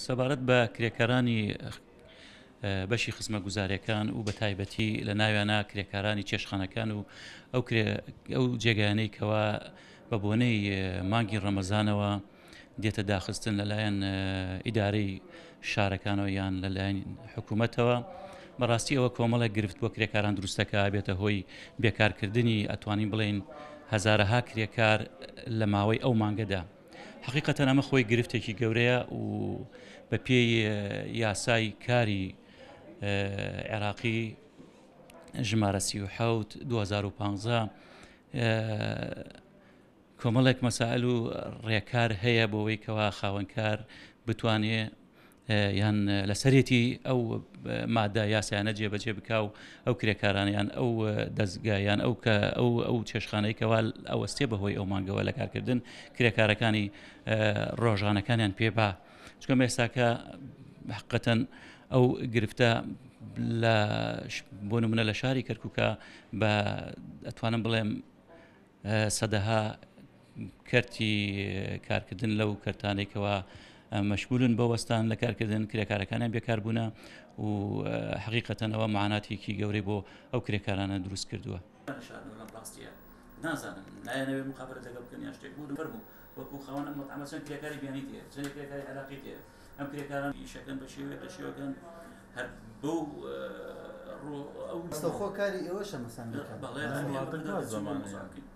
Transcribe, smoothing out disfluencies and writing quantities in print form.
سەبارەت بە کرێکارانی بەشی خزمەتگوزاریەکان و بە تایبەتی لە ناویانە کرێکارانی چێشخانەکان و ئەو ئەو جێگایانەی کەوا بە بۆنەی مانگی ڕەمەزانەوە دێتە داخستن لەلایەن ئیدارەی شارەکانەوە یان لەلایەن حکوومەتەوە بەڕاستی ئەوە کۆمەڵێک گرفت بۆ کرێکاران دروستەکە بێتە هۆی بێکارکردنی ئەتوانین بڵێین هەزارەها کرێکار لە ماوەی ئەو مانگەدا حقیقەتەن ئەمە خۆی گرفتێکی گەورەیە و بە پێی یاسای کاری عێراقی ژمارە 37 2015 کۆمەڵێک مەسائل و ڕێکار هەیە بۆ ئەوەی کەوا خاوەنکار بتوانێ یان لەسەرێتی ئەو مادە یاسایانە جێبەجێ بکا و ئەو کرێکارانە یان ئەو دەزگا یان ئەو کە ئەو ئەو چێشخانەی کەوا ئەوەستێ بەهۆی ئەو مانگەوە لە کارکردن کرێکارەکانی ڕۆژانەکانیان پێ با چونکە ئێستاکە حقەتەن ئەو گرفتە لە بۆ نمونە لە شاری کەرکووکە بە ئەتوانم بڵێم سەدەها کەرتی کارکردن لەو کەرتانەی کەوا مەشغولن بە وەستان لە کارکردن کرێکارەکانیان بێکار بوونە و حقیقەتەن ئەوە معاناتێکی گەورەی بۆ ئەو کرێکارانە دروست کردووە. ڕاستیە نازانم نایانەوێ مخابرە لەگەڵ بکەن یان شتێک بۆ فەرموو وەکو خاوەن ئەم مەتعەمە چەند کرێکاری بیانی تێ چەند کرێکاری عێراقی تێ ئەم کرێکاران ئیشەکەن بە شێوەیەک لە شێوەکان هەر بەو ڕۆ ئەو ڕاستەوخۆ کاری ئێوەشە مەسەن بکەن. بەڵێ وڵاتەکە زەمانەیە.